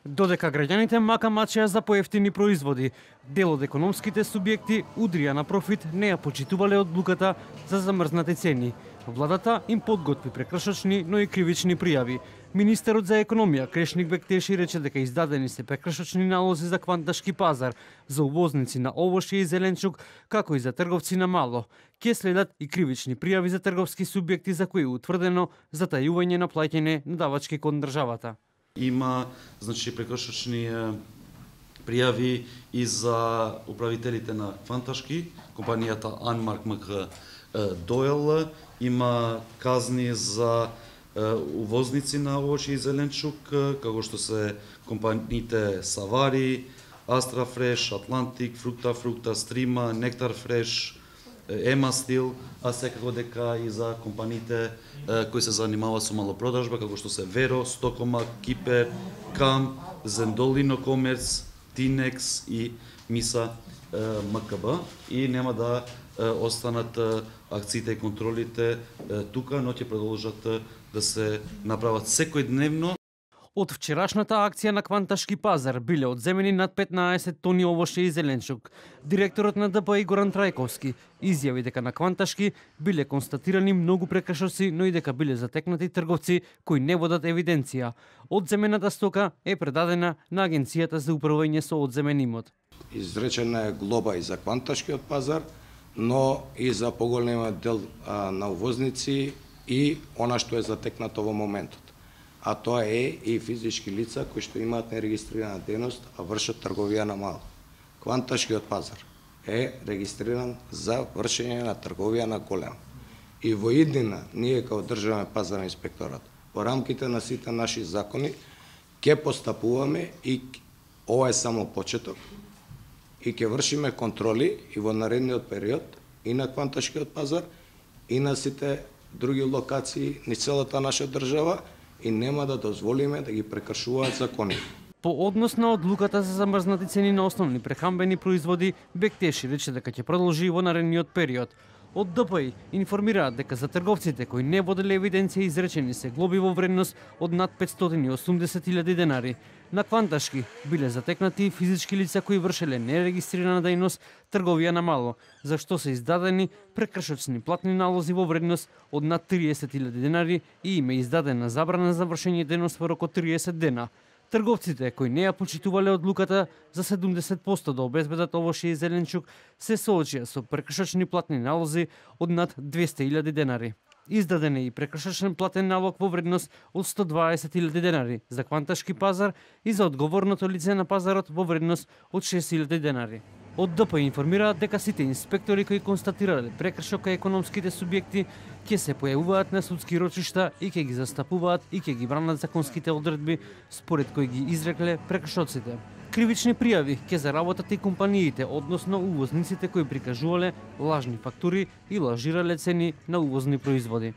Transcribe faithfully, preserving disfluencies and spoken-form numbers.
Додека граѓаните мака мачеа за поевтини производи, дел од економските субјекти удрија на профит не ја почитувале одлуката за замрзнати цени. Владата им подготви прекршочни, но и кривични пријави. Министерот за економија Крешник Бектеши рече дека издадени се прекршочни налози за кванташки пазар, за увозници на овошје и зеленчук, како и за трговци на мало. Ке следат и кривични пријави за трговски субјекти за кои е утврдено затајување на плаќање на давачки кон државата. Има, значи, прекршочни пријави и за управителите на Кванташки, компанијата Анмарк МК Дойл, има казни за увозници на овошје и зеленчук, како што се компаниите Савари, Астра Фреш, Атлантик, Фрукта Фрукта, Стрима, Нектар Фреш, Ема Стил, а секако дека и за компаниите кои се занимаваат со малопродажба, како што се Веро, Стокомак, Кипер, Кам, Зендолино Комерц, Тинекс и Миса МКБ, и нема да останат акциите и контролите тука, но ќе продолжат да се направат секојдневно. Од вчерашната акција на Кванташки пазар биле одземени над петнаесет тони овошје и зеленчук. Директорот на ДП Горан Трајковски изјави дека на Кванташки биле констатирани многу прекршоци, но и дека биле затекнати трговци кои не водат евиденција. Одземената стока е предадена на Агенцијата за управување со одземен имот. Изречена е глоба и за Кванташкиот пазар, но и за поголемиот дел а, на увозници и она што е затекнато во моментот. А тоа е и физички лица кои што имаат нерегистрирана дејност, а вршат трговија на мало. Кванташкиот пазар е регистриран за вршење на трговија на големо. И во иднина, ние како државен пазарен инспекторат, во рамките на сите наши закони, ќе постапуваме и ова е само почеток, и ќе вршиме контроли и во наредниот период и на Кванташкиот пазар, и на сите други локации на целата наша држава, и нема да дозволиме да ги прекршуваат закони. По однос на одлуката за замрзнати цени на основни прехранбени производи, Бектеши рече дека ќе продолжи во наредниот период. Од ДПИ информираат дека за трговците кои не воделе евиденција изречени се глоби во вредност од над петстотини и осумдесет илјади денари. На Кванташки биле затекнати и физички лица кои вршеле нерегистрирана дејност трговија на мало, за што се издадени прекршочни платни налози во вредност од над триесет илјади денари и им е издадена забрана за вршење дејност во рок од триесет дена. Трговците кои не ја почитувале одлуката за седумдесет проценти да обезбедат овошје и зеленчук се соочија со прекршочни платни налози од над двесте илјади денари. Издаден е и прекршочен платен налог во вредност од сто дваесет илјади денари за Кванташки пазар и за одговорното лице на пазарот во вредност од шест илјади денари. Од ДП информираат дека сите инспектори кои констатирале прекршок кај економските субјекти ќе се појавуваат на судски рочишта и ќе ги застапуваат и ќе ги бранат законските одредби според кои ги изрекле прекршоците. Кривични пријави ќе заработат и компаниите, односно увозниците кои прикажувале лажни фактури и лажирале цени на увозни производи.